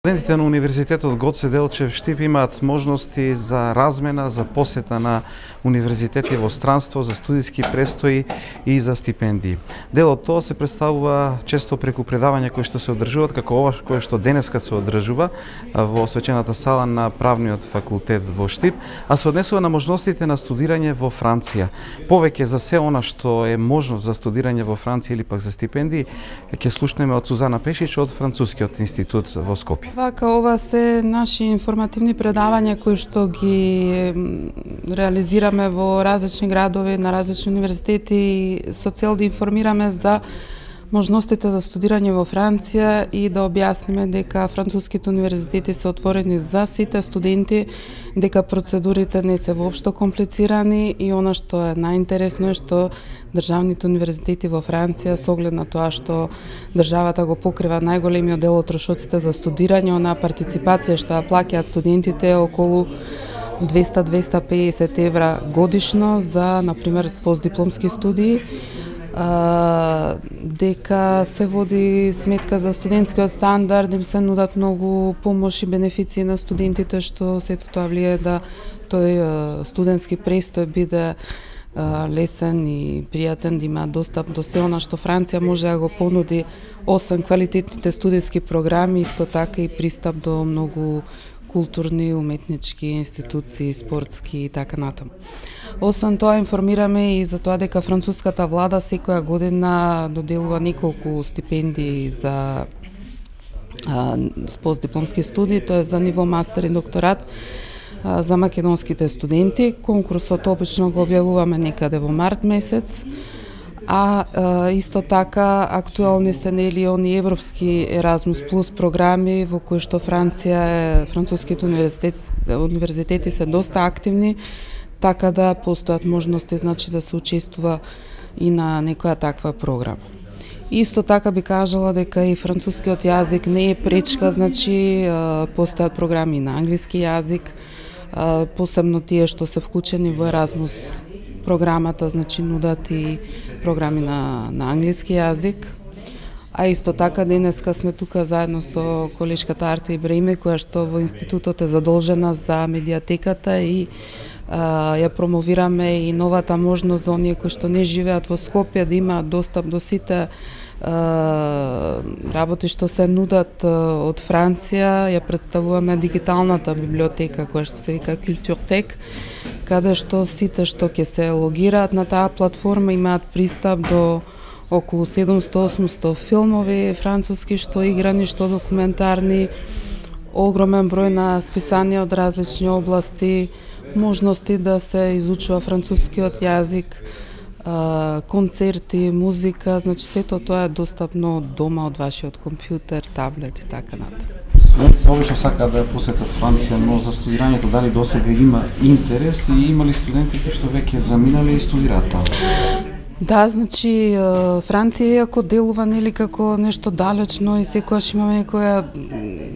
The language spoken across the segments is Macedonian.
Студентите на Универзитетот Гоце Делчев Штип имаат можности за размена, за посета на универзитети во странство, за студиски престои и за стипендии. Дел од тоа се представува често преку предавања кои што се одржуваат, како ова кое што денеска се одржува во свечената сала на Правниот факултет во Штип, а се однесува на можностите на студирање во Франција. Повеќе за се она што е можност за студирање во Франција или пак за стипендии, ќе слушнеме од Сузана Пешич од Францускиот институт во Скопје. Вака, ова се наши информативни предавања кои што ги реализираме во различни градови, на различни универзитети со цел да информираме за можностите за студирање во Франција и да објасниме дека француските универзитети се отворени за сите студенти, дека процедурите не се воопшто комплицирани и она што е најинтересно е што државните универзитети во Франција, со оглед на тоа што државата го покрива најголемиот дел од трошоците за студирање, онаа партиципација што ја плаќаат студентите е околу 200-250 евра годишно за, например, постдипломски студии, дека се води сметка за студентскиот стандард, им се нудат многу помош и бенефиции на студентите, што сето тоа влие да тој студентски престој биде лесен и пријатен, да има достап до се она што Франција може да го понуди, освен квалитетните студиски програми, исто така и пристап до многу културни, уметнички институции, спортски и така натаму. Освен тоа, информираме и за тоа дека француската влада секоја година доделува неколку стипендии за постдипломски студии, тоа е за ниво мастер и докторат за македонските студенти. Конкурсот обично го објавуваме некаде во март месец, а исто така актуелни се нели они европски Erasmus Plus програми во кои што француските универзитети се доста активни, така да постојат можности значи да се учествува и на некоја таква програма. Исто така би кажала дека и францускиот јазик не е пречка, значи постојат програми на англиски јазик, посебно тие што се вклучени во Erasmus програмата, значи нудат и програми на англиски јазик. А исто така денеска сме тука заедно со колешката Арта Ибраиме, која што во институтот е задолжена за медиатеката и ја промовираме и новата можност за оние кои што не живеат во Скопје да имаат достап до сите работи што се нудат од Франција. Ја представуваме дигиталната библиотека која што се вика Culturtech, каде што сите што ќе се логираат на таа платформа имаат пристап до околу 700-800 филмови француски, што играни, што документарни, огромен број на списанија од различни области, можности да се изучува францускиот јазик, концерти, музика, значи сето тоа е достапно од дома, од вашиот компјутер, таблет и така натаму. Студентите обично сакаат да ја посетат Франција, но за студирањето дали досега има интерес и има ли студенти кои што веќе заминале и студираат таму? Да, значи Франција иако делува нели како нешто далечно и секогаш имаме некоја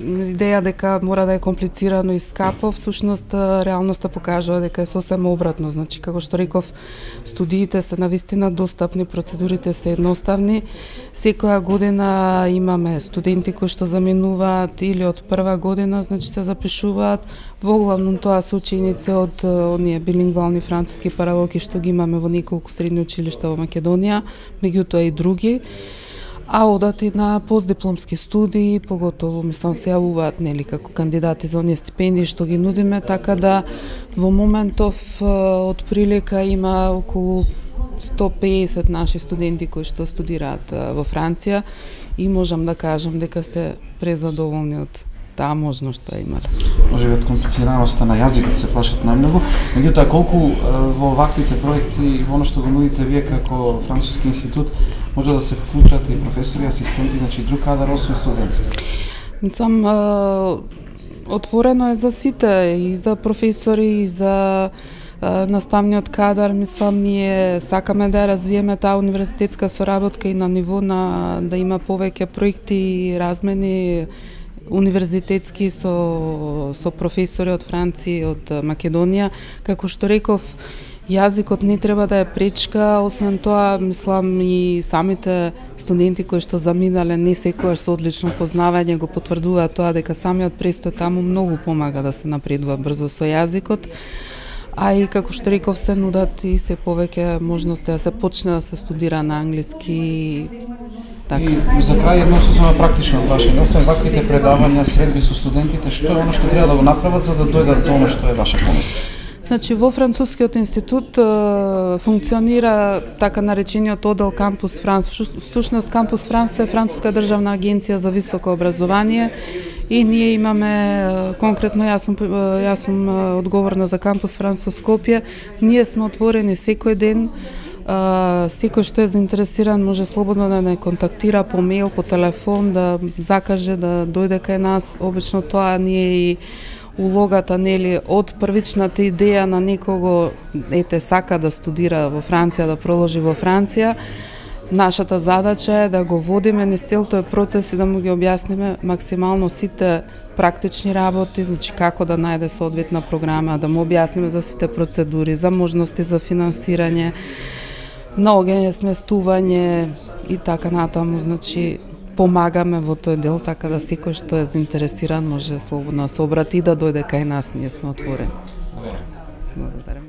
идеја дека мора да е комплицирано и скапо, всушност реалноста покажува дека е сосем обратно. Значи како што реков, студиите се навистина достапни, процедурите се едноставни. Секоја година имаме студенти кои што заминуваат или од прва година, значи се запишуваат. Во главном тоа се ученици од оние билингвални француски паралелки што ги имаме во неколку средни училишта во Македонија, меѓутоа и други. А одат и на постдипломски студии, поготово мислам се јавуваат нели како кандидати за оние стипендии што ги нудиме, така да во моментов од прилика има околу 150 наши студенти кои што студираат во Франција и можам да кажам дека се презадоволни од таа можност што имале. Може би од комплицираноста на јазикот се плашат најмногу, меѓутоа колку во ваквите проекти во она што го нудите вие како Француски институт може да се вклучат и професори, асистенти, значи друг кадар освен студентите? Мислам, отворено е за сите, и за професори, и за наставниот кадар. Мислам, ние сакаме да развиеме таа универзитетска соработка и на ниво на да има повеќе проекти и размени универзитетски со професори од Франција и од Македонија. Како што реков, Јазикот не треба да е пречка, освен тоа, мислам и самите студенти кои што заминале не секојаш со одлично познавање го потврдуваат тоа дека самиот престој таму многу помага да се напредува брзо со јазикот. А и како што реков, се нудат и се повеќе можности да се почне да се студира на англиски. Така. И за крај едно сосема практично прашање, освен ваквите предавања, средби со студентите, што е оно што треба да го направат за да дојдат до оно што е ваша помош? Значи, во Францускиот институт функционира така наречениот одел Кампус Франс. Всушност Кампус Франс е Француска државна агенција за високо образование и ние имаме, конкретно јас сум одговорна за Кампус Франс во Скопје. Ние сме отворени секој ден. Секој што е заинтересиран може слободно да не контактира по мејл, по телефон, да закаже да дојде кај нас. Обично тоа ние и улогата, нели, од првичната идеја на некого, ете, сака да студира во Франција, да проложи во Франција. Нашата задача е да го водиме низ цел тој процес и да му ги објасниме максимално сите практични работи, значи како да најде соодветна програма, да му објасниме за сите процедури, за можности за финансирање, наоѓање, сместување и така натаму, значи помагаме во тој дел, така да секој што е заинтересиран може слободно да се обрати и да дојде кај нас, ние сме отворени. Благодарам.